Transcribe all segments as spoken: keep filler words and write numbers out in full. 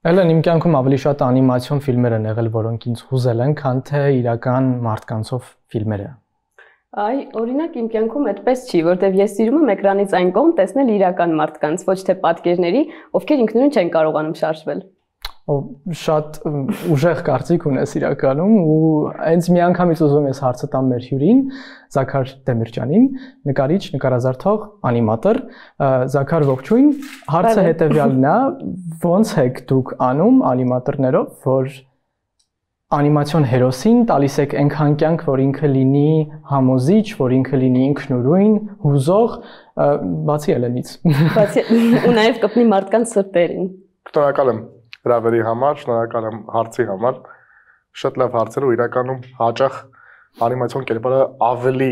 Ելեն իմ կյանքում ավելի շատ անիմացիոն ֆիլմեր են եղել, որոնք ինձ հուզել են, քան թե իրական մարդկանցով ֆիլմերը։ Այ, օրինակ իմ կյանքում այդպես չի, որտեվ ես սիրում եմ էկրանից այն կողմ տեսնել իրական մարդկանց, ոչ թե պատկերների, ովքեր ինքնուրույն չեն կարողանում շարժվել։ Շատ ուժեղ կարծիք ունես իրականում ու հենց մի անգամից ուզում ես հարցը տամ մեր հյուրին, Զաքար Դեմիրճյանին, նկարիչ, նկարազարդող, անիմատոր։ Զաքար, ողջույն։ Հարցը հետևյալն է, ո՞նց եք դուք անում անիմատորներով, որ անիմացիոն հերոսին տալիս եք այնքան կյանք, որ ինքը լինի համոզիչ, որ ինքը լինի ինքնուրույն, հուզող, բացի ելենից։ Բացի ու նաև կպնի մարդկանց սրտերին։ Շնորհակալ եմ հրավերի համար, շնորհակալ եմ հարցի համար։ Շատ լավ հարցեր ու իրականում հաճախ անիմացիոն կերպարը ավելի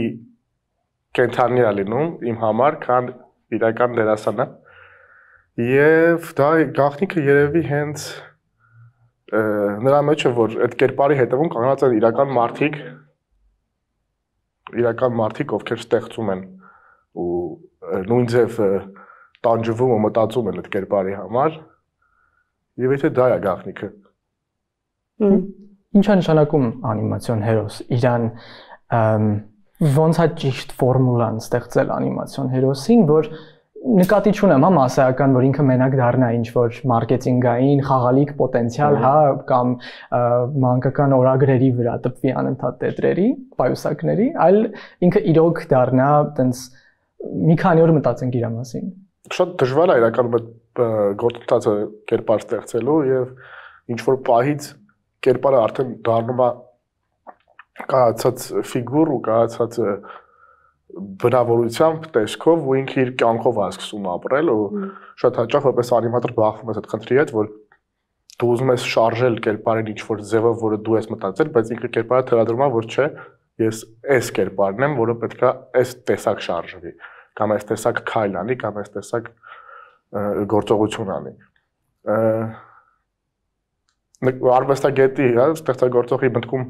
կենթանի է լինում իմ համար, քան իրական դերասանը։ Եվ դա գաղտնիքը երևի հենց նրա մեջ է, որ այդ կերպարի հետևում կանգնած են իրական մարդիկ, իրական մարդիկ, ովքեր ստեղծում են ու նույն ձև տանջվում ու մտածում են այդ կերպարի համար։ Եվ եթե դա է գաղտնիքը։ Ինչ է նշանակում անիմացիոն հերոս, իրան ոնց է ճիշտ ֆորմուլան ստեղծել անիմացիոն հերոսին, որ նկատի չունեմ, հա, մասսայական, որ ինքը մենակ դառնա ինչ-որ մարքեթինգային, խաղալիք պոտենցիալ, հա, կամ մանկական օրագրերի վրա տպվի անընդհատ տետրերի, պայուսակների, այլ ինքը իրոք դառնա տենց մի քանի օր մտածենք իր մասին։ Շատ դժվար է իրականում այդ գործընթացը կերպար ստեղծելու եւ ինչ-որ պահից կերպարը արդեն դառնում է կայացած ֆիգուր ու կայացած բնավորությամբ, տեսքով ու ինքը իր կյանքով է սկսում ապրել ու շատ հաճախ որպես անիմատոր բախվում ես այդ խնդրի հետ, որ դու ուզում ես շարժել կերպարին ինչ-որ ձևով, որը դու ես մտածել, բայց ինքը կերպարը թելադրում է, որ չէ, ես այս կերպարն եմ, որը պետք է այս տեսակ շարժվի, կամ այս տեսակ քայլ անի, կամ այս տեսակ գործողություն անի։ Արվեստագետի, հա, ստեղծագործողի մտքում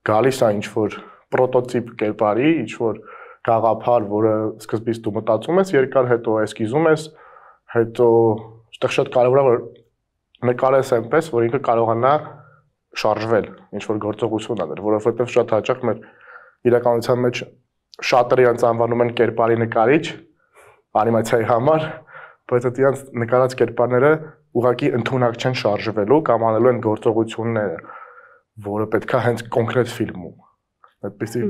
գալիս է ինչ-որ պրոտոտիպ կերպարի, ինչ-որ գաղափար, որը սկզբից դու մտածում ես, երկար հետո էսկիզում ես, հետո այդտեղ շատ կարևոր է, որ նկարես այնպես, որ ինքը կարողանա շարժվել, ինչ-որ գործողություն անել, որովհետև շատ հաճախ մեր իրականության մեջ շատերը իրենց անվանում են կերպարի նկարիչ անիմացիայի համար, բայց այդ իրենց նկարած կերպարները ուղղակի ընդունակ չեն շարժվելու կամ անելու են գործողությունները, որը պետք է հենց կոնկրետ ֆիլմում։ Այդպիսի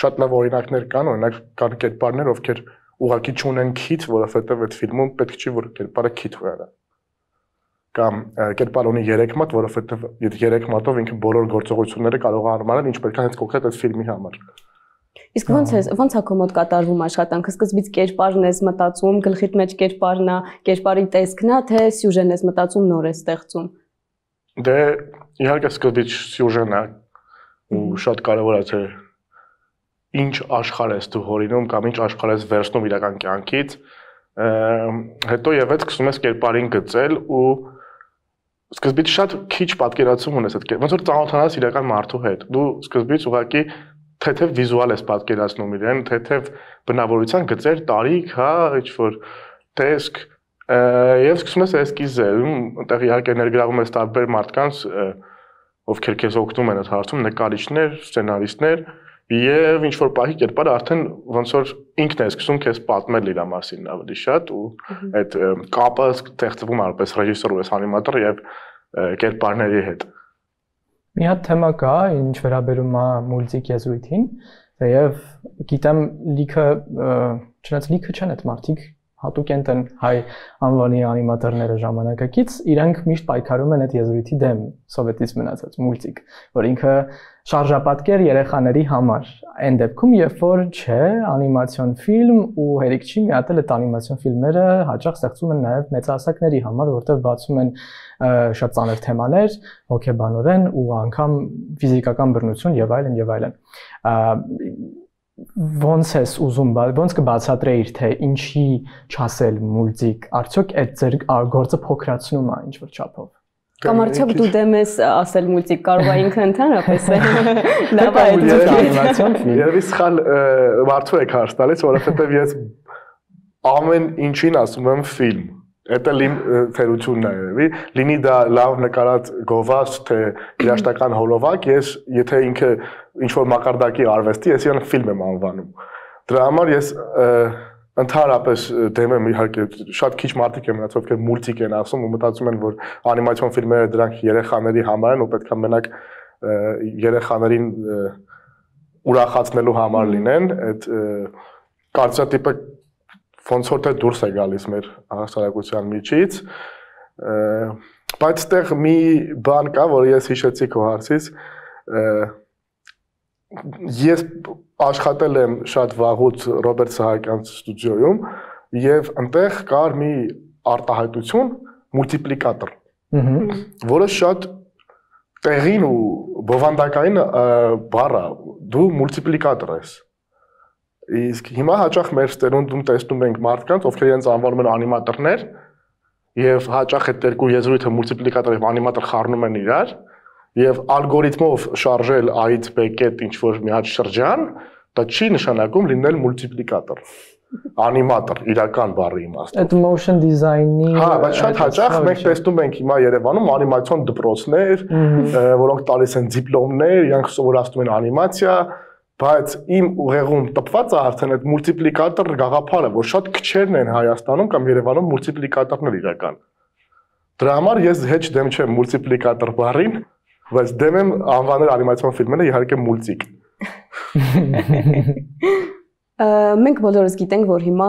շատ լավ օրինակներ կան, օրինակ կան կերպարներ, ովքեր ուղղակի չունեն քիթ, որովհետև այդ ֆիլմում պետք չի, որ կերպարը քիթ ունենա։ Կամ կերպարը ունի երեք մատ, որովհետև երեք մատով ինքը բոլոր գործողությունները կարող է անել, ինչ պետք է հենց կոնկրետ այդ ֆիլմի համար։ Իսկ ո՞նց է, ո՞նց է քո մոտ կատարվում աշխատանքը, սկզբից կերպարն ես մտածում, գլխիդ մեջ կերպարն է, կերպարի տեսքն է, թե սյուժեն ես մտածում, նոր ես ստեղծում։ Դե իհարկե սկզբից սյուժեն է ու շատ կարևոր է թե ինչ աշխարհ ես դու հորինում կամ ինչ աշխարհ ես վերցնում իրական կյանքից, հետո եւս սկսում ես կերպարին գծել ու սկզբից շատ քիչ պատկերացում ունես այդ ոնց որ ծանոթանաս իրական մարդու հետ։ Դու սկզբից ուղղակի թեթև վիզուալ ես պատկերացնում իրեն, թեթև բնավորության գծեր, տարիք, հա, ինչ-որ տեսք եւ սկսում ես էսկիզել, այնտեղ իհարկե ներգրավում ես տարբեր մարդկանց, ովքեր քեզ օգնում են այդ հարցում, նկարիչներ, սցենարիստներ, եւ ինչ-որ պահի կերպարը արդեն ոնց որ ինքն է սկսում քեզ պատմել իր մասին ավելի շատ ու այդ կապը ստեղծվում է որպես ռեժիսոր ու անիմատոր եւ կերպարների հետ։ Մի հատ թեմա կա, ինչ վերաբերում է մուլտիկ եզրույթին, եւ գիտեմ լիքը, չնայած լիքը չեն այդ մարդիկ, հատուկ են հայ անվանի անիմատորները ժամանակակից, իրենք միշտ պայքարում են այդ եզրույթի դեմ, սովետից մնացած մուլտիկ, որ ինքը շարժապատկեր երեխաների համար, այն դեպքում, երբ որ չէ, անիմացիոն ֆիլմ ու հերիք չի միատել այդ անիմացիոն ֆիլմերը հաճախ ստեղծում են նաև մեծահասակների համար, որտեղ բացում են շատ ծանր թեմաներ, հոգեբանորեն ու անգամ ֆիզիկական բռնություն եւ այլն եւ այլն։ Ոնց ես ուզում, ոնց կբացատրեիր, թե ինչի չասել մուլտիկ, արդյոք այդ ձեր գործը փոքրացնում է ինչ-որ չափով։ Կամ արդյոք դու դեմ ես ասել մուլտիկ, կարող է ինքը ընդհանրապես լավ է անիմացիոն ֆիլմ։ Երևի սխալ մարդու եք հարց տալիս, որովհետև ես ամեն ինչին ասում եմ ֆիլմ։ Դա լին թերությունն է, երևի, լինի դա լավ նկարած գովաց, թե երաշտական հոլովակ, ես եթե ինքը ինչ-որ մակարդակի արվեստի, ես իրան ֆիլմ եմ անվանում։ Դրա համար ես ընդհանրապես դեմ եմ իհարկե շատ քիչ մարդիկ են մնացել, ովքեր մուլտիկ են ասում ու մտածում են, որ անիմացիոն ֆիլմերը դրանք երեխաների համար են ու պետք է մենակ երեխաներին ուրախացնելու համար լինեն, այդ կարծրատիպը ոնց որ թե դուրս է գալիս մեր հասարակության միջից, բայց այդտեղ մի բան կա, որ ես հիշեցի քո հարցից, ես աշխատել եմ շատ վաղուց Ռոբերտ Սահակյանց ստուդիոյում եւ այնտեղ կար մի արտահայտություն մուլտիպլիկատոր, որը շատ տեղին ու բովանդակային բառ է, դու մուլտիպլիկատոր ես։ Իսկ հիմա հաճախ մեր ստերունդում տեսնում ենք մարդկանց, ովքեր իրենց անվանում են անիմատորներ, եւ հաճախ այդ երկու եզրույթը մուլտիպլիկատոր եւ անիմատոր խառնում են իրար, եւ ալգորիթմով շարժել A-ից B կետ ինչ-որ մի հատ շրջան, դա չի նշանակում լինել մուլտիպլիկատոր, անիմատոր, իրական բառի իմաստով։ Այդ motion design-ի Հա, բայց շատ հաճախ մենք տեսնում ենք հիմա Երևանում անիմացիոն դպրոցներ, որոնք տալիս են դիպլոմներ, իրանք սովորացնում են անիմացիա, բայց իմ ուղեղում տպված է արդեն այդ մուլտիպլիկատոր գաղափարը, որ շատ քչերն են Հայաստանում կամ Երևանում մուլտիպլիկատորներ իրական։ Դրա համար ես հեչ դեմ չեմ մուլտիպլիկատոր բառին, բայց դեմ եմ անվանել անիմացիոն ֆիլմերը իհարկե մուլտիկ։ Մենք բոլորս գիտենք, որ հիմա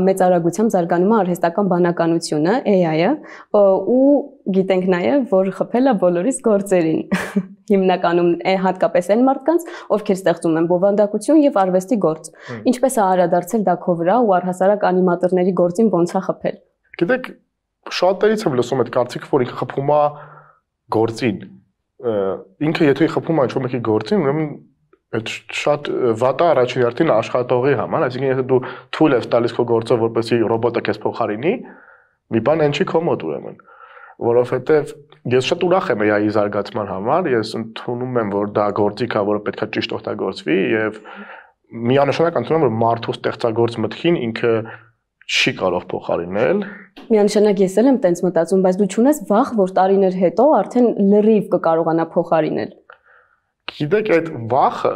մեծ արագությամբ զարգանում է արհեստական բանականությունը, A I-ը, ու գիտենք նաև, որ խփել է բոլորիս գործերին։ Հիմնականում հատկապես այն մարդկանց, ովքեր ստեղծում են բովանդակություն եւ արվեստի գործ։ Ինչպես է արադարձել դա քո վրա ու առհասարակ անիմատորների գործին ոնց է խփել։ Գիտեք, շատերից եմ լսում այդ կարծիքը, որ ինքը խփում է գործին։ Ինքը եթե խփում է ինչ-որ մեկի գործին, ուրեմն այդ շատ վատ է առաջին հերթին աշխատողի համար, այսինքն եթե դու թույլ ես տալիս քո գործը, որպեսզի ռոբոտը քեզ փոխարինի, մի բան այն չի քո մոտ ուրեմն, որովհետև ես շատ ուրախ եմ A I-ի զարգացման համար, ես ընդունում եմ, որ դա գործիք է, որը պետք է ճիշտ օգտագործվի եւ միանշանակ ընդունում եմ, որ մարդու ստեղծագործ մտքին ինքը չի կարող փոխարինել։ Միանշանակ ես էլ եմ տենց մտածում, բայց դու չունես վախ, որ տարիներ հետո արդեն լրիվ կկարողանա փոխարինել։ Գիտեք, այդ վախը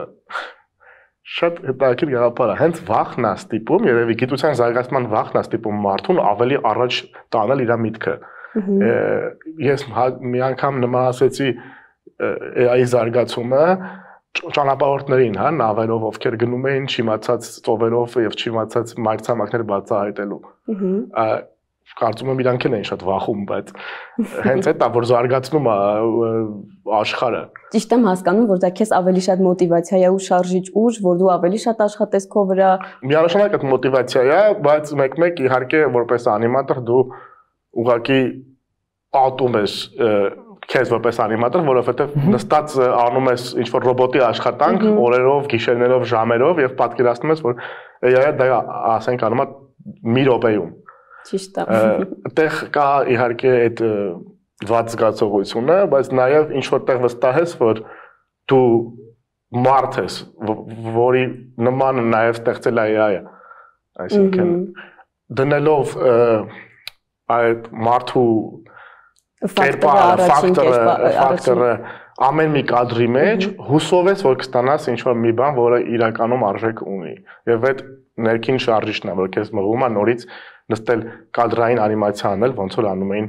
շատ հետաքրքիր գաղափար է, հենց վախն է ստիպում, երևի գիտության զարգացման վախն է ստիպում մարդուն ավելի առաջ տանել իր միտքը։ Ես մի անգամ նման ասեցի A I-ի զարգացումը ճանապարհորդներին, հա, նավերով, ովքեր գնում էին չիմացած ծովերով եւ չիմացած մայրցամաքներ բացահայտելու։ Կարծում եմ իրանք են շատ վախում, բայց հենց այդ է, որ զարգացնում է աշխարհը։ Ճիշտ եմ հասկանում, որ դա քեզ ավելի շատ մոտիվացիա է ու շարժիչ ուժ, որ դու ավելի շատ աշխատես քո վրա։ Միանշանակ այդ մոտիվացիա է, բայց մեկ-մեկ իհարկե որպես անիմատոր դու ուղղակի ատում ես քեզ որպես անիմատոր, որովհետև նստած անում ես ինչ-որ ռոբոտի աշխատանք օրերով, գիշերներով, ժամերով եւ պատկերացնում ես, որ A I-ը դա ասենք անում է մի րոպեում։ Ճիշտ է։ Այդտեղ կա իհարկե այդ վատ զգացողությունը, բայց նաև ինչ որտեղ վստահ ես, որ դու մարդ ես, որի նման նաև ստեղծել է A I-ը։ Այսինքն դնելով այդ մարդու ֆակտորը ամեն մի կադրի մեջ հուսով ես, որ կստանաս ինչ-որ մի բան, որը իրականում արժեք ունի։ Եվ այդ ներքին շարժիչն է, որ քեզ մղում է նորից նստել կադրային անիմացիա անել, ոնց որ անում էին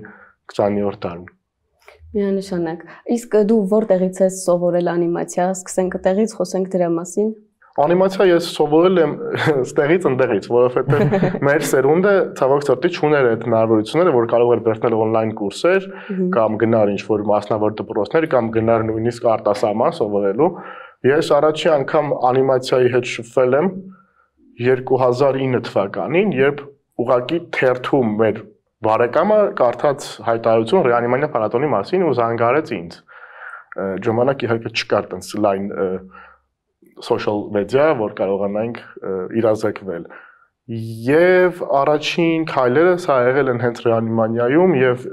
քսաներորդ դարում։ Միանշանակ։ Իսկ դու որտեղից ես սովորել անիմացիա, սկսենք այդտեղից, խոսենք դրա մասին։ Անիմացիա ես սովորել եմ ստեղից ընդեղից, որովհետև մեր սերունդը ցավոք սրտի չուներ այդ հնարավորությունները, որ կարող էր բերնել on-line կուրսեր կամ գնար ինչ-որ մասնավոր դպրոցներ կամ գնար նույնիսկ արտասահման սովորելու։ Ես առաջի անգամ անիմացիայի հետ շփվել եմ երկու հազար ինը թվականին, երբ ուղղակի թերթում մեր բարեկամը կարդաց հայտարարություն Ռեանիմանիա փառատոնի մասին ու զանգարեց ինձ։ Ժամանակ իհարկե չկար տենց լայն social media, որ կարողանանք իրազեկվել։ Եվ առաջին քայլերս հա եղել են հենց Ռեանիմանիայում եւ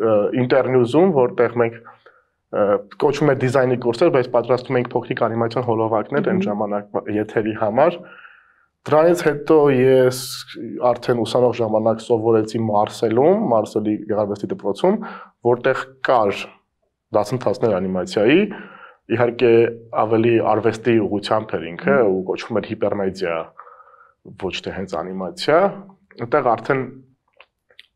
ինտերնյուզում, որտեղ մենք կոչվում է դիզայնի կուրսեր, բայց պատրաստում ենք փոքրիկ անիմացիոն հոլովակներ այն ժամանակ եթերի համար։ Դրանից հետո ես արդեն ուսանող ժամանակ սովորեցի Մարսելում, Մարսելի գեղարվեստի դպրոցում, որտեղ կար դասընթացներ անիմացիայի, իհարկե ավելի արվեստի ուղղությամբ էր ինքը ու կոչվում էր հիպերմեդիա, ոչ թե հենց անիմացիա, այնտեղ արդեն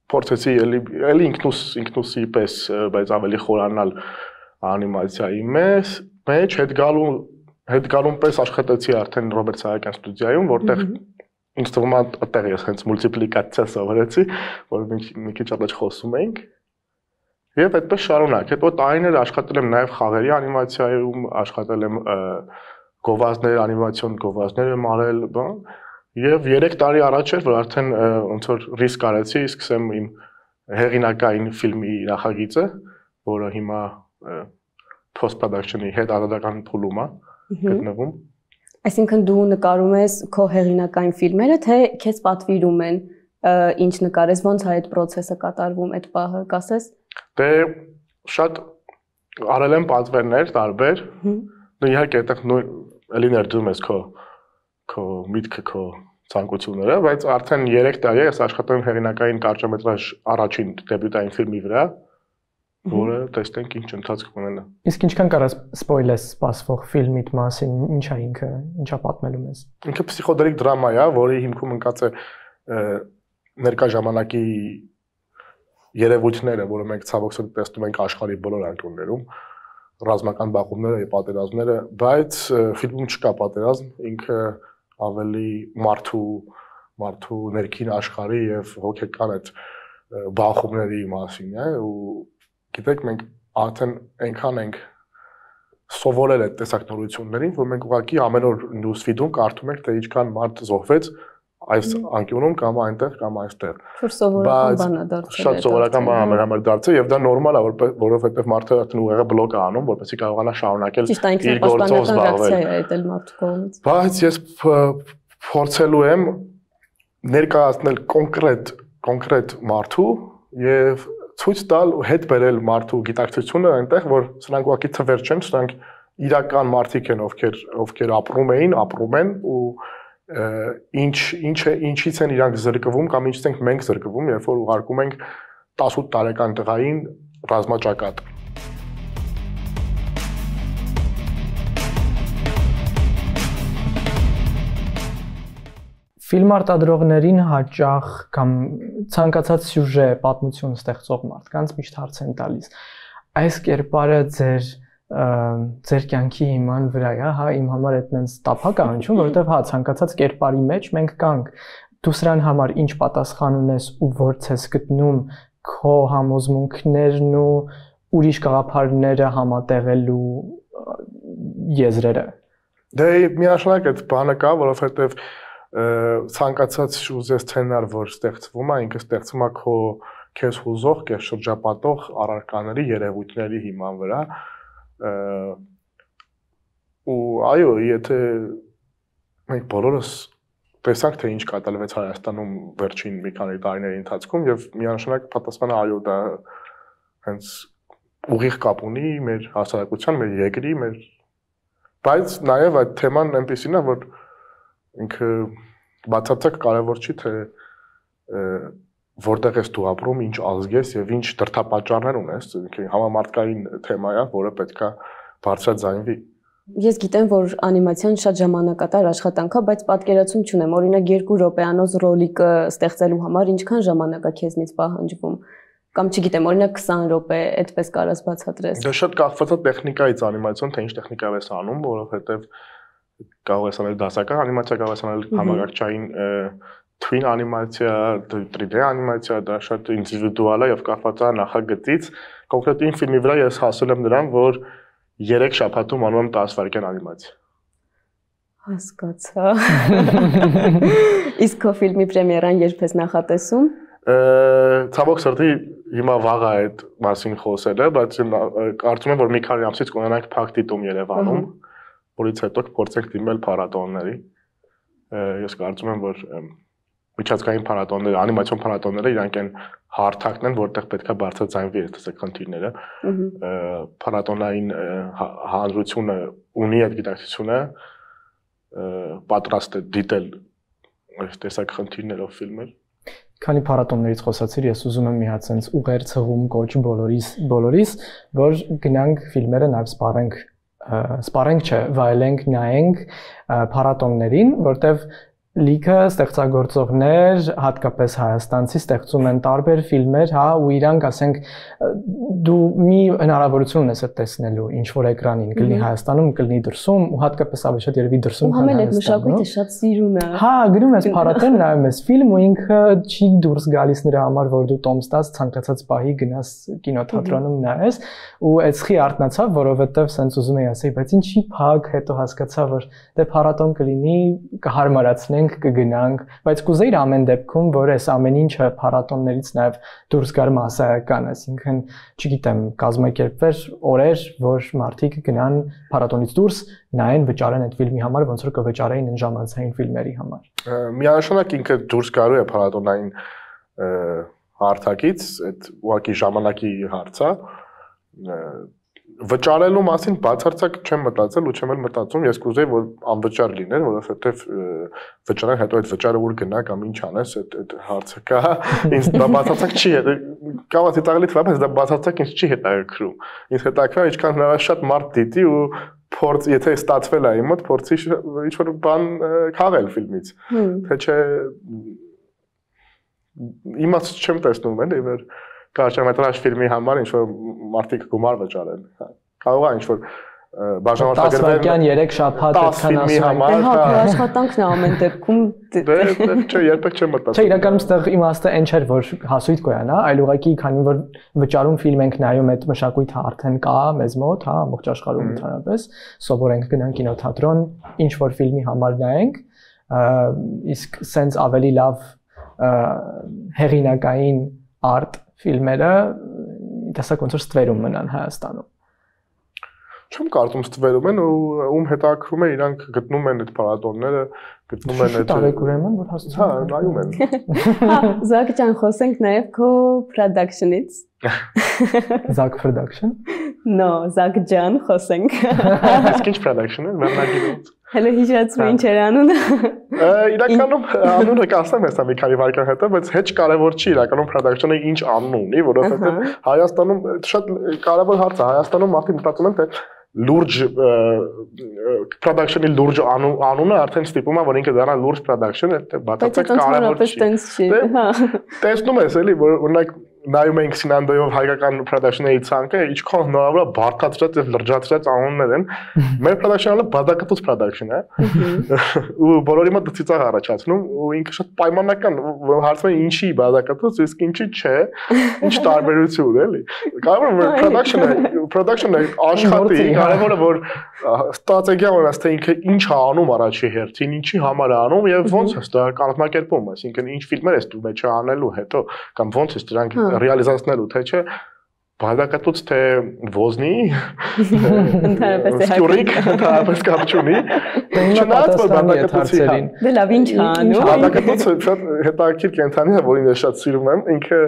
փորձեցի էլի էլի ինքնուս ինքնուսի պես, բայց ավելի խորանալ անիմացիայի մեջ, մեջ հետ գալու հետ գալուն պես աշխատեցի արդեն Ռոբերտ Սահակյան ստուդիայում, որտեղ ինձ թվում է այդտեղ ես հենց մուլտիպլիկացիա սովորեցի, որ մի քիչ առաջ խոսում էինք։ Եվ այդպես շարունակ։ Հետո տարիներ աշխատել եմ նաև խաղերի անիմացիայում, աշխատել եմ գովազդներ, անիմացիոն գովազդներ եմ արել, բան։ Եվ երեք տարի առաջ էր, որ արդեն ոնց որ ռիսկ արեցի, սկսեմ իմ հեղինակային ֆիլմի նախագիծը, որը հիմա post production-ի հետ արտադրական փուլում է գտնվում։ Այսինքն դու նկարում ես քո հեղինակային ֆիլմերը, թե քեզ պատվիրում են ինչ նկարես, ոնց է այդ process-ը կատարվում, այդ պահը կասես։ Դե շատ արել եմ պատվերներ տարբեր։ Դու իհարկե այդտեղ էլի ներդրում ես քո քո միտքը, քո ցանկությունները, բայց արդեն երեք տարի ես աշխատում եմ հեղինակային կարճամետրաժ առաջին դեբյուտային ֆիլմի վրա, որը տեսնենք ինչ ընթացք կունենա։ Իսկ ինչքան կարաս սպոյլես սպասվող ֆիլմիդ մասին, ինչ է ինքը, ինչա պատմելու մեզ։ Ինքը պսիխոդելիկ դրամա է, որի հիմքում ընկած է ներկա ժամանակի երևույթները, որը մենք ցավոք սրտի տեսնում ենք աշխարհի բոլոր անկյուններում, ռազմական բախումները եւ պատերազմները, բայց ֆիլմում չկա պատերազմ, ինքը ավելի մարդու մարդու ներքին աշխարհի եւ հոգեկան այդ բախումների մասին է ու գիտեք մենք արդեն այնքան ենք սովորել այդ տեսակնորություններին, որ մենք ուղղակի ամեն օր նյուզֆիդում կարդում ենք, թե ինչքան մարդ զոհվեց այս անկյունում կամ այնտեղ կամ այստեղ։ Որ սովորական բան է դարձել։ Շատ սովորական բան է մեր համար դարձել եւ դա նորմալ է, որովհետեւ մարդը արդեն ուղեղը բլոկ է անում, որպեսզի կարողանա շարունակել իր գործով զբաղվել։ Բայց ես փորձելու եմ ներկայացնել կոնկրետ կոնկրետ մարդու եւ ցույց տալ ու հետ բերել մարդու գիտակցությունը այնտեղ, որ սրանք ուղղակի թվեր չեն, սրանք իրական մարդիկ են, ովքեր ովքեր ապրում էին, ապրում են ու ինչ ինչ է ինչից են իրանք զրկվում կամ ինչից ենք մենք զրկվում, երբ որ ուղարկում ենք տասութ տարեկան տղային ռազմաճակատ։ Ֆիլմ արտադրողներին հաճախ կամ ցանկացած սյուժե, պատմություն ստեղծող մարդկանց միշտ հարց են տալիս։ Այս կերպարը ձեր ձեր կյանքի հիման վրա է, հա, իմ համար այդ նենց տափակ է հնչում, որովհետև հա ցանկացած կերպարի մեջ մենք կանք։ Դու սրան համար ինչ պատասխան ունես ու ո՞րց ես գտնում քո համոզմունքներն ու ուրիշ գաղափարները համատեղելու եզրերը։ Դե միանշանակ այդ բանը կա, որովհետև ցանկացած ուզես սցենար, որ ստեղծվում է, ինքը ստեղծվում է քո քեզ հուզող, քեզ շրջապատող առարկաների, երևույթների հիման վրա։ Ու այո, եթե մենք բոլորս տեսանք, թե ինչ կատարվեց Հայաստանում վերջին մի քանի տարիների ընթացքում եւ միանշանակ պատասխանը այո, դա հենց ուղիղ կապ ունի մեր հասարակության, մեր երկրի, մեր բայց նաեւ այդ թեման այնպեսին է, որ ինքը բացարձակ կարևոր չի, թե որտեղ ես դու ապրում, ինչ ազգ ես եւ ինչ դրդապատճառներ ունես, համամարտկային թեմա է, որը պետքա բարձրաձայնվի։ Ես գիտեմ, որ անիմացիան շատ ժամանակատար աշխատանք է, բայց պատկերացում չունեմ, օրինակ երկու րոպեանոց ռոլիկը ստեղծելու համար ինչքան ժամանակ է քեզնից պահանջվում։ Կամ չգիտեմ, օրինակ քսան րոպե, այդպես կարաս բացատրես։ Դա շատ կախված է տեխնիկայից անիմացիոն, թե ինչ տեխնիկայով ես անում, որովհետեւ կարող ես անել դասական անիմացիա, կարող ես անել համակարգչային twin անիմացիա, three D անիմացիա, դա շատ ինդիվիդուալ է եւ կախված է նախագծից։ Կոնկրետ իմ ֆիլմի վրա ես հասել եմ նրան, որ երեք շաբաթում անում եմ տասը վայրկյան անիմացիա։ Հասկացա։ Իսկ քո ֆիլմի պրեմիերան երբ ես նախատեսում։ Ցավոք սրտի հիմա վաղ է այդ մասին խոսելը, բայց կարծում եմ, որ մի քանի ամսից կունենանք փակ դիտում Երևանում, որից հետո կփորձենք դիմել փառատոների։ Ես կարծում եմ, որ միջազգային փառատոները, անիմացիոն փառատոները իրանք են հարթակն են, որտեղ պետքա բարձրաձայնվի այս խնդիրները։ Փառատոնային հանրությունը ունի այդ գիտակցությունը, պատրաստ է դիտել այս տեսակ խնդիրներով ֆիլմեր։ Քանի փառատոններից խոսացիր, ես ուզում եմ մի հատ sense ուղեր ցղում կոչ բոլորիս, բոլորիս, որ գնանք ֆիլմերը նաև սպառենք, սպառենք չէ, վայելենք, նայենք փառատոններին, որտեվ լիքը ստեղծագործողներ, հատկապես հայաստանցի ստեղծում են տարբեր ֆիլմեր, հա, ու իրանք, ասենք, դու մի հնարավորություն ունես այդ տեսնելու, ինչ որ էկրանին, կլինի Հայաստանում, կլինի դրսում, ու հատկապես ավելի շատ երևի դրսում քան Հայաստանում։ Ու համել այդ մշակույթը շատ սիրում է։ Հա, գրում ես փառատոն, նայում ես ֆիլմ, ու ինքը չի դուրս գալիս նրա համար, որ դու տոմս տաս, ցանկացած պահի գնաս կինոթատրոնում նայես, ու այդքի արտնացավ, որովհետև սենց ուզում էի ասեի, բայց ինչի փակ, հետո հասկացա, որ դե փառատոն կլինի, կհարմարացնենք, կգնանք, բայց կուզեիր ամեն դեպքում, որ այս ամեն ինչը փառատոններից նաև դուրս գար մասսայական, այսինքն, չգիտեմ, կազմակերպվեր օրեր, որ մարդիկ գնան փառատոնից դուրս, նայեն, վճարեն այդ ֆիլմի համար, ոնց որ կվճարեին այն ժամանցային ֆիլմերի համար։ Միանշանակ ինքը դուրս գալու է փառատոնային հարթակից, այդ ուղղակի ժամանակի հարց է։ Վճարելու մասին բացարձակ չեմ մտածել ու չեմ էլ մտածում, ես կուզեի որ անվճար լիներ, որովհետև վճարան հետո այդ վճարը ուր գնա կամ ինչ անես, այդ այդ հարցը կա, ինձ դա բացարձակ չի հետ, կարող է տաղելի թվա, բայց դա բացարձակ ինձ չի հետաքրքրում։ Ինձ հետաքրքրում է ինչքան հնարավոր շատ մարդ դիտի ու փորձ, եթե ստացվել է իմ մոտ, փորձի ինչ որ բան քաղել ֆիլմից։ Թե չէ իմաց չեմ տեսնում էլ իվեր կարճամետրաժ ֆիլմի համար ինչ որ մարդիկ գումար վճարեն։ Կարող է ինչ որ բաժանորդագրվել երեք շաբաթ այդքան ասում են։ Հա, աշխատանքն է ամեն դեպքում։ Դե չէ, երբեք չեմ մտածում։ Չէ, իրականում ստեղ իմաստը այն չէր, որ հասույթ կոյանա, այլ ուղղակի քանի որ վճարում ֆիլմ ենք նայում, այդ մշակույթը արդեն կա մեզ մոտ, հա, ամբողջ աշխարհում ընդհանրապես, սովորենք գնանք կինոթատրոն, ինչ որ ֆիլմի համար նայենք, իսկ սենց ավելի լավ հեղինակային արտ ֆիլմերը տեսակ ոնց որ ստվերում մնան Հայաստանում։ Չեմ կարծում ստվերում են ու ում հետաքրում է իրանք գտնում են այդ փառատոնները, գտնում են այդ տարեք ուրեմն որ հասցնում։ Հա, նայում են։ Հա, Զակ ջան, խոսենք նաև քո production-ից։ Zak production։ No, Zak ջան, խոսենք։ Իսկ ինչ production-ը, վերնագիրը։ Հələ հիշեցրու ինչ էր անունը։ Իրականում անունը կասեմ հեսա մի քանի վայրկյան հետո, բայց հեչ կարևոր չի իրականում production-ը ինչ անուն ունի, որովհետև Հայաստանում շատ կարևոր հարց է, Հայաստանում մարդիկ մտածում են թե լուրջ production-ի լուրջ անունը արդեն ստիպում է որ ինքը դառնա լուրջ production, այդ բացարձակ կարևոր չի։ Տեսնում ես էլի, որ օրինակ նայում ենք Սինանդոյով հայկական production-ների ցանկը, ինչքան հնարավոր է բարդացրած եւ լրջացրած անուններ են։ Մեր production-ը բադակտուց production է։ Ու բոլորի մոտ ծիծաղ առաջացնում ու ինքը շատ պայմանական, հարցում է ինչի բադակտուց, իսկ ինչի չէ, ինչ տարբերություն էլի։ Կարևորը որ production-ը, production-ը աշխատի, կարևորը որ ստրատեգիա ունենաս թե ինքը ինչ է անում առաջի հերթին, ինչի համար է անում եւ ոնց է դա կազմակերպում, այսինքն ինչ ֆիլմեր ես դու մեջ անելու հետո կամ ոնց է դրանք ռեալիզացնելու թե չէ բադակտուց թե ոզնի ընդհանրապես է հայկիկ ընդհանրապես կապ չունի չնայած որ բադակտուցի դե լավ ինչ է անում բադակտուցը շատ հետաքրքիր կենտրոնի է որին ես շատ սիրում եմ ինքը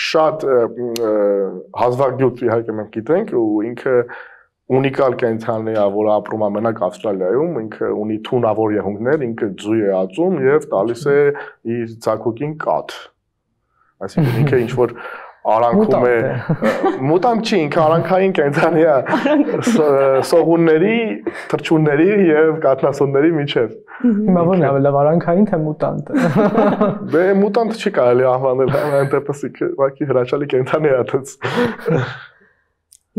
շատ հազվագյուտ իհարկե մենք գիտենք ու ինքը ունիկալ կենտրոնի է որ ապրում է մենակ Ավստրալիայում ինքը ունի թունավոր եղունգներ ինքը ձու է ածում եւ տալիս է իր ցակուկին կաթ այսինքն ինքը ինչ որ արանքում է մուտանտ չի ինքը արանքային կենտրոնի է սողունների թռչունների եւ կաթնասունների միջեւ հիմա որն է լավ արանքային թե մուտանտ դե մուտանտ չի կարելի անվանել այնտեղս ուղղակի հրաշալի կենտրոնի է դից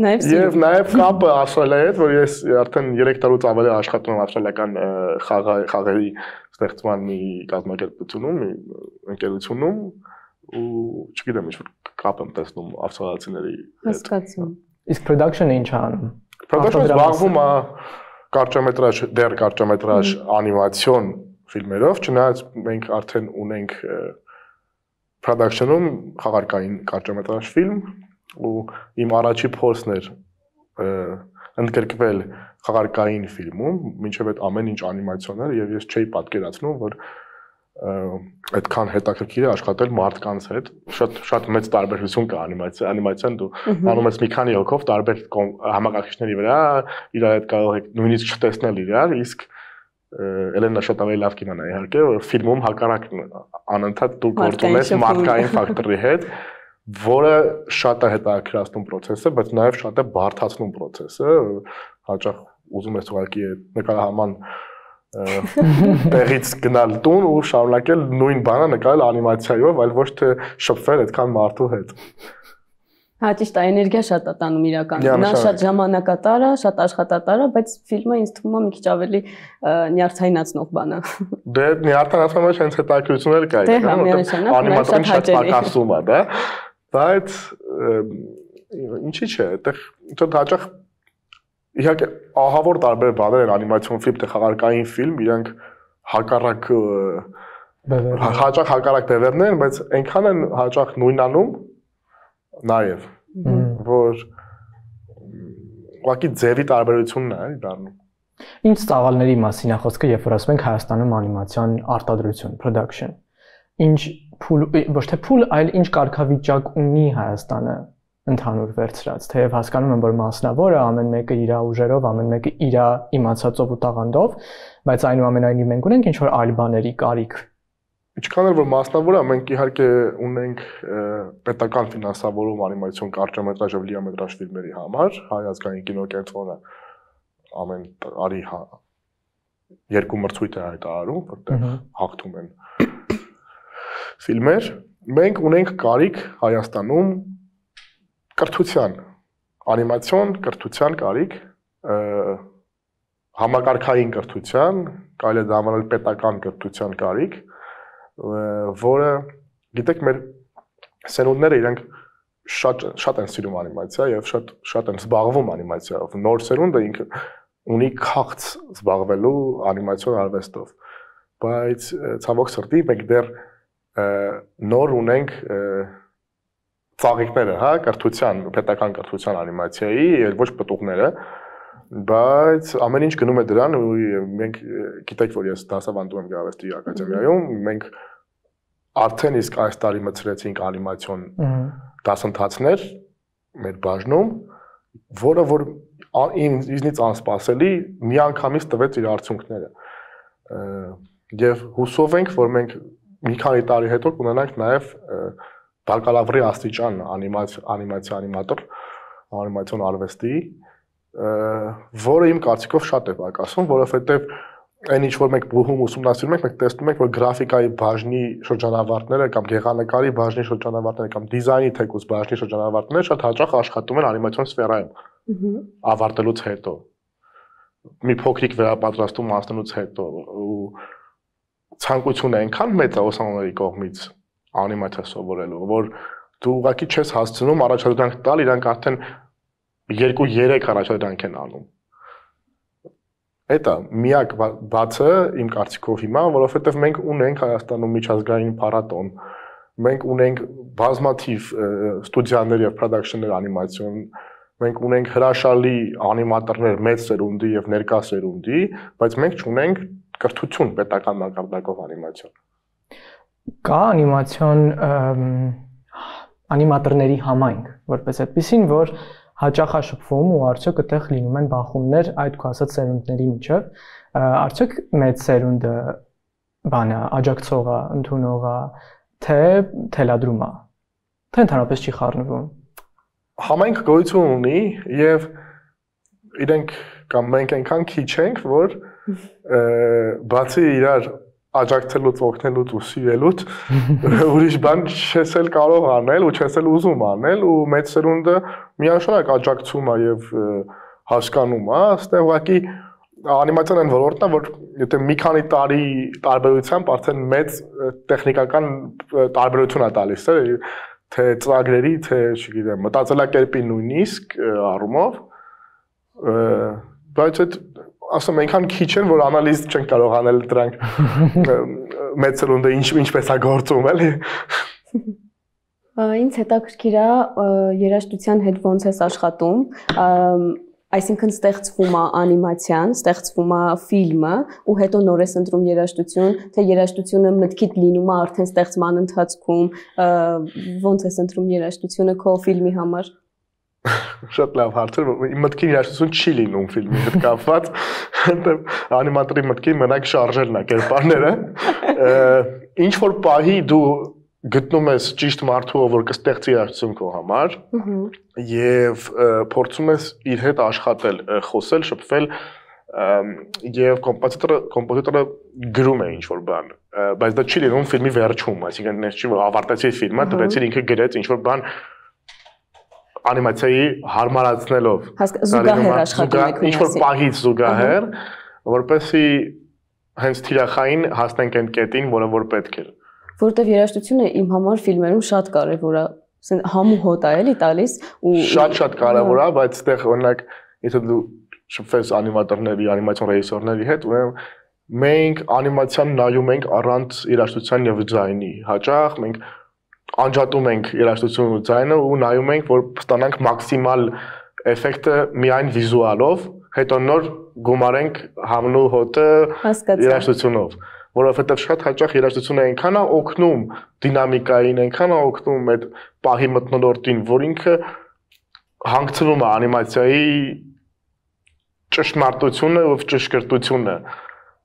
Եվ նաև կապը Ավստրալիայի հետ, որ ես արդեն երեք տարուց ավելի աշխատում եմ ավստրալիական խաղերի ստեղծման մի կազմակերպությունում, մի ընկերությունում ու չգիտեմ ինչ որ կապ եմ տեսնում ավստրալիացիների հետ։ Հասկացում։ Իսկ production-ը ինչ է անում։ Production-ը զբաղվում է կարճամետրաժ, դեռ կարճամետրաժ անիմացիոն ֆիլմերով, չնայած մենք արդեն ունենք production-ում խաղարկային կարճամետրաժ ֆիլմ ու իմ առաջի փորձն էր ընդգրկվել խաղարկային ֆիլմում, մինչև այդ ամեն ինչ անիմացիոն էր եւ ես չէի պատկերացնում, որ այդքան հետաքրքիր է աշխատել մարդկանց հետ, շատ շատ մեծ տարբերություն կա անիմացիա, անիմացիան դու անում ես մի քանի հոգով տարբեր համակարգիչների վրա, իրար հետ կարող եք նույնիսկ չտեսնել իրար, իսկ Էլենա շատ ավելի լավ կինոն է իհարկե, որ ֆիլմում հակառակ անընդհատ դու գործում ես մարդկային ֆակտորի հետ, որը շատ է հետաքրքրացնում process-ը, բայց նաև շատ է բարդացնում process-ը, հաճախ ուզում ես ուղղակի նկարահանման տեղից գնալ տուն ու շարունակել նույն բանը նկարել անիմացիայով, այլ ոչ թե շփվել այդքան մարդու հետ։ Հա, ճիշտ է, էներգիա շատ է տանում իրականում։ Նա շատ ժամանակատար է, շատ աշխատատար է, բայց ֆիլմը ինձ թվում է մի քիչ ավելի նյարդայնացնող բան է։ Դե նյարդայնացումը հենց հետաքրքրություն էլ կա, որովհետև անիմատորին շատ պակասում է, դա, բայց ինչի՞ չէ, այդտեղ շատ հաճախ իհարկե ահավոր տարբեր բաներ են անիմացիոն ֆիլմ, թե խաղարկային ֆիլմ, իրանք հակառակ հաճախ հակառակ բևեռներ են, բայց այնքան են հաճախ նույնանում նաև որ ուղղակի ձևի տարբերությունն է դառնում։ Ինչ ծավալների մասին է խոսքը, երբ որ ասում ենք Հայաստանում անիմացիոն արտադրություն, production։ Ինչ փուլ, ոչ թե փուլ, այլ ինչ կարգավիճակ ունի Հայաստանը ընդհանուր վերցրած, թեև հասկանում եմ, որ մասնավոր է, ամեն մեկը իր ուժերով, ամեն մեկը իր իմացածով ու տաղանդով, բայց այնուամենայնիվ մենք ունենք ինչ որ այլ բաների կարիք։ Ինչքան էլ որ մասնավոր է, մենք իհարկե ունենք պետական ֆինանսավորում անիմացիոն կարճամետրաժ եւ լիամետրաժ ֆիլմերի համար, Հայ ազգային կինոկենտրոնը ամեն տարի երկու մրցույթ է հայտարարում, որտեղ հաղթում են ֆիլմեր։ Մենք ունենք կարիք Հայաստանում կրթության, անիմացիոն կրթության կարիք, համակարգային կրթության, կարելի է դա անվանել պետական կրթության կարիք, որը գիտեք մեր սերունդները իրենք շատ շատ են սիրում անիմացիա եւ շատ շատ են զբաղվում անիմացիայով։ Նոր սերունդը ինքը ունի քաղց զբաղվելու անիմացիոն արվեստով։ Բայց ցավոք սրտի մենք դեռ նոր ունենք ծաղիկները, հա, կրթության, պետական կրթության անիմացիայի, ոչ պտուղները, բայց ամեն ինչ գնում է դրան ու մենք գիտեք որ ես դասավանդում եմ Գեղարվեստի ակադեմիայում, մենք արդեն իսկ այս տարի մտցրեցինք անիմացիոն դասընթացներ մեր բաժնում, որը որ ինձնից անսպասելի միանգամից տվեց իր արդյունքները։ Եվ հուսով ենք, որ մենք մի քանի տարի հետո կունենանք նաև բակալավրի աստիճան անիմացիա անիմատոր, անիմացիոն արվեստի, որը իմ կարծիքով շատ է պակասում, որովհետև այն ինչ որ մենք բուհում ուսումնասիրում ենք, մենք տեսնում ենք, որ գրաֆիկայի բաժնի շրջանավարտները կամ գեղանկարի բաժնի շրջանավարտները կամ դիզայնի թեկուզ բաժնի շրջանավարտները շատ հաճախ աշխատում են անիմացիոն սֆերայում ավարտելուց հետո։ Մի փոքրիկ վերապատրաստում անցնելուց հետո ու ցանկությունը այնքան մեծ է ուսանողների կողմից անիմացիա սովորելու, որ դու ուղղակի չես հասցնում առաջադրանք տալ, իրանք արդեն երկու երեք առաջադրանք են անում։ Էդ է միակ բացը իմ կարծիքով հիմա, որովհետև մենք ունենք Հայաստանում միջազգային փառատոն, մենք ունենք բազմաթիվ ստուդիաներ եւ production-ներ անիմացիոն, մենք ունենք հրաշալի անիմատորներ մեծ սերունդի եւ ներկա սերունդի, բայց մենք չունենք կրթություն պետական մակարդակով անիմացիոն։ Կա անիմացիոն անիմատորների համայնք, որպես այդպեսին, որ հաճախ է շփվում ու արդյոք այդտեղ լինում են բախումներ այդ քո ասած սերունդների միջև, արդյոք մեծ սերունդը բանը աջակցող է, ընդունող է, թե թելադրում է, թե ընդհանրապես չի խառնվում։ Համայնք գոյություն ունի եւ իրենք կամ մենք այնքան քիչ ենք, որ բացի իրար աջակցելուց, օգնելուց ու սիրելուց ուրիշ բան չես էլ կարող անել ու չես էլ ուզում անել ու մեծ սերունդը միանշանակ աջակցում է եւ հասկանում է, այստեղ ուղղակի անիմացիան այն ոլորտն է, որ եթե մի քանի տարի տարբերությամբ արդեն մեծ տեխնիկական տարբերություն է տալիս, թե ծրագրերի, թե, չգիտեմ, մտածելակերպի նույնիսկ առումով, բայց այդ ասում այնքան քիչ են, որ անալիզ չեն կարող անել դրանք մեծ սերունդը ինչ ինչպես է գործում, էլի։ Ինձ հետաքրքիր է երաժշտության հետ ոնց ես աշխատում, այսինքն ստեղծվում է անիմացիան, ստեղծվում է ֆիլմը ու հետո նոր ես ընտրում երաժշտություն, թե երաժշտությունը մտքիդ լինում է արդեն ստեղծման ընթացքում, ոնց ես ընտրում երաժշտությունը քո ֆիլմի համար։ Շատ լավ հարց էր, իմ մտքին երաժշտություն չի լինում ֆիլմի հետ կապված, այնտեղ անիմատորի մտքին մենակ շարժելն է կերպարները։ Ինչ որ պահի դու գտնում ես ճիշտ մարդու, որ կստեղծի երաժշտություն քո համար, եւ փորձում ես իր հետ աշխատել, խոսել, շփվել, եւ կոմպոզիտորը կոմպոզիտորը գրում է ինչ որ բան, բայց դա չի լինում ֆիլմի վերջում, այսինքն ես չի որ ավարտեցի ֆիլմը, տվեցի ինքը գրեց ինչ որ բան անիմացիայի հարմարացնելով զուգահեռ աշխատում եք ինչ որ պահից զուգահեռ, որպեսզի հենց թիրախային հասնենք այն կետին, որը որ պետք է։ Որտեվ երաժշտությունը իմ համար ֆիլմերում շատ կարևոր է, համու հոտ է էլի տալիս ու շատ-շատ կարևոր է, բայց այդտեղ օրինակ եթե դու շփվես անիմատորների, անիմացիոն ռեժիսորների հետ, ուրեմն մենք անիմացիան նայում ենք առանց երաժշտության եւ դիզայնի։ Հաճախ մենք անջատում ենք երաժշտությունն ու ձայնը ու նայում ենք, որ ստանանք մաքսիմալ էֆեկտը միայն վիզուալով, հետո նոր գումարենք համնու հոտը երաժշտությունով, որովհետև շատ հաճախ երաժշտությունը այնքան է օգնում դինամիկային, այնքան է օգնում այդ պահի մթնոլորտին, որ ինքը հանգցնում է անիմացիայի ճշմարտությունը ու ճշգրտությունը,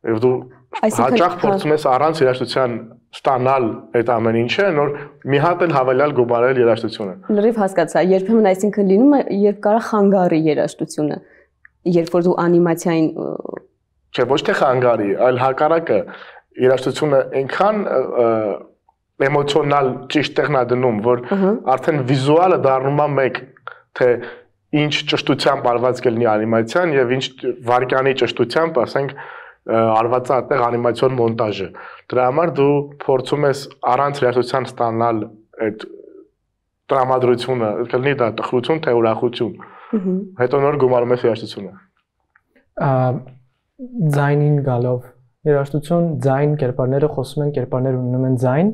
եւ դու հաճախ փորձում ես առանց երաժշտության ստանալ այդ ամեն ինչը, նոր մի հատ էլ հավելյալ գումարել երաժշտությունը։ Լրիվ հասկացա, երբեմն այսինքն լինում է, երբ կարա խանգարի երաժշտությունը, երբ որ դու անիմացիային Չէ, ոչ թե խանգարի, այլ հակառակը երաժշտությունը այնքան էմոցիոնալ ճիշտ տեղն է դնում, որ արդեն վիզուալը դառնում է մեկ, թե ինչ ճշտությամբ արված կլինի անիմացիան եւ ինչ վարկյանի ճշտությամբ, ասենք արված է այդտեղ անիմացիոն մոնտաժը։ Դրա համար դու փորձում ես առանց երաժշտության ստանալ այդ տրամադրությունը, կլինի դա տխրություն, թե ուրախություն։ Հետո նոր գումարում ես երաժշտությունը։ Ձայնին գալով երաժշտություն, ձայն, կերպարները խոսում են, կերպարները ունենում են ձայն,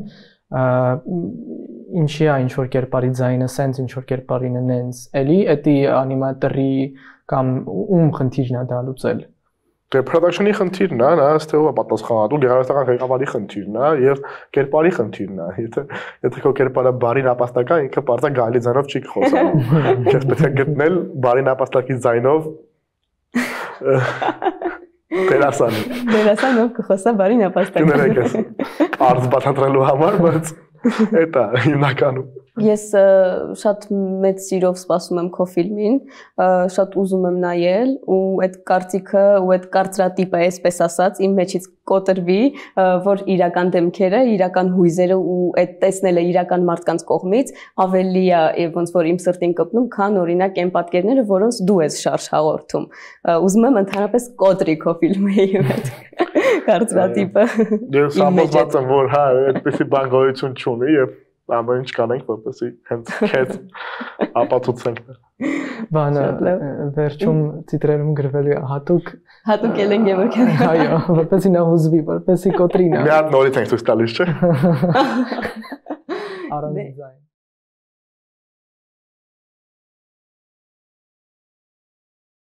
ինչի է ինչ որ կերպարի ձայնը, սենց ինչ որ կերպարին է նենց, էլի էդի անիմատորի կամ ում խնդիրն է դա լուծել։ Դե production-ի խնդիրն է, նա ըստ էության պատասխանատու գեղարվեստական ղեկավարի խնդիրն է եւ կերպարի խնդիրն է։ Եթե եթե քո կերպարը բարի նապաստական, ինքը պարզա գալի ձայնով չի խոսանում։ Ես պետք է գտնել բարի նապաստակի ձայնով դերասան։ Դերասանով կխոսա բարի նապաստակ։ Կներեք ես արզ բացատրելու համար, բայց Էտա հիմնականում։ Ես շատ մեծ սիրով սպասում եմ քո ֆիլմին, շատ ուզում եմ նայել ու այդ կարծիքը ու այդ կարծրատիպը, այսպես ասած, իմ մեջից կոտրվի, որ իրական դեմքերը, իրական հույզերը ու այդ տեսնելը իրական մարդկանց կողմից ավելի է ոնց որ իմ սրտին կպնում, քան օրինակ այն պատկերները, որոնց դու ես շարժ հաղորդում։ Ուզում եմ ընդհանրապես կոտրի քո ֆիլմի հետ կարծրատիպը։ Ես համոզված եմ, որ հա, այդպեսի բան գոյություն չունի եւ ամեն ինչ կանենք, որպեսզի հենց քեզ ապացուցենք։ Բանը վերջում տիտրերում գրվելու է հատուկ հատուկ Էլեն Գևորգյան։ Այո, որպեսզի նա հուզվի, որպեսզի կոտրի նա։ Մի հատ նորից ենք ցույց տալիս, չէ՞։ Առանց ձայն։